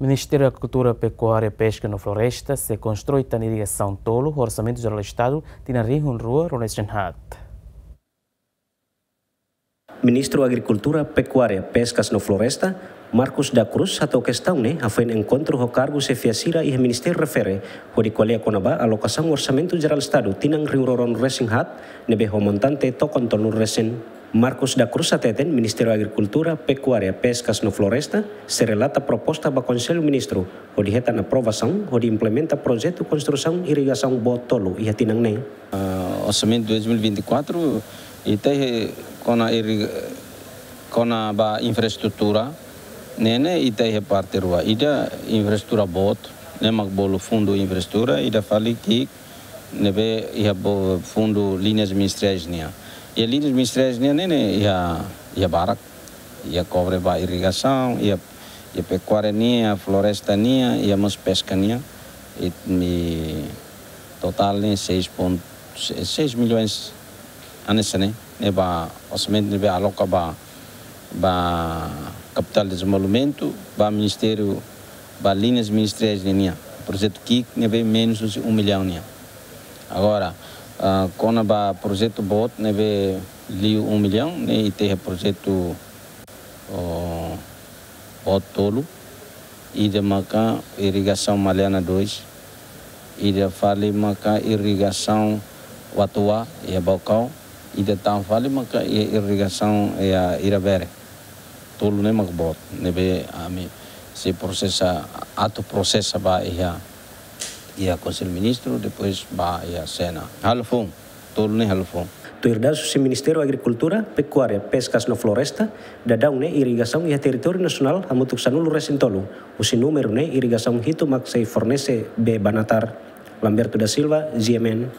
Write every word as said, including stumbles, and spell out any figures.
Ministériu Agrikultura, Pekuária, Peska no Floresta sei konstrui tan irrigasaun tolu ho Orsamentu Jerál Estadu tinan rihun rua ruanulu-resin-haat. Ministru Agrikultura, Pekuária, Peskas no Floresta, Marcos da Cruz, hato'o kestaun ne'e hafoin enkontru ho kargu xefia sira iha ministériu refere, hodi ko'alia kona-ba alokasaun Orsamentu Jerál Estadu tinan rihun rua ruanulu-resin-haat, ne'ebé ho montante tokon tolunulu-resin. Marcos da Cruz hateten Ministériu Agrikultura, Pekuária, Peskas no Floresta sei relata proposta ba Konsellu Ministru hodi hetan aprovasaun hodi implementa projetu konstrusaun irrigasaun boot tolu iha tinan ne'e. Ah, orsamentu dois mil e vinte e quatro, ita iha kona irri-, kona-ba infraestrutura, ne'e ne'e ita iha parte rua. Ida infraestrutura boot, ne'e mak bolu fundu infraestrutura, ida fali ki'ik, ne'ebé iha bo-, fundu liñas ministeriais nian. Iha liñas ministeriais nian ne'e ne'e iha, iha barak, iha kobre ba irrigasaun, iha, iha pekuária nian, floresta nian, iha mós peska nian. I, i totál ne'e seis ponto seis milhões hanesan ne'e, ne'e ba orsamentu ne'ebé aloka ba, ba kapitál dezenvolvimentu, ba ministériu, ba liñas ministeriais nian. Projetu ki'ik ne'ebé menus husi um milhão nian. Agora, ah, kona-ba projetu boot ne'ebé liu um milhão, ne'e ita iha projetu, oh, boot tolu, ida maka irrigasaun Maliana dois, ida fali maka irrigasaun Watoa, iha Baucau, ida tan fali maka i-, irrigasaun iha Irabere. Tolu ne'e mak boot, ne'ebé ami sei prosesa, atu prosesa ba iha, iha Konsellu Ministru, depois ba iha Sena. Halo foun, tolu ne'e halo foun. Tuir dadus husi Ministériu Agrikultura, Pekuária, Peskas no Floresta, daudaun ne'e irrigasaun iha territóriu nasionál hamutuk sanulu-resin-tolu, husi númeru ne'e irrigasaun hitu mak sei fornese bee ba natar. Lamberto da Silva, G M N,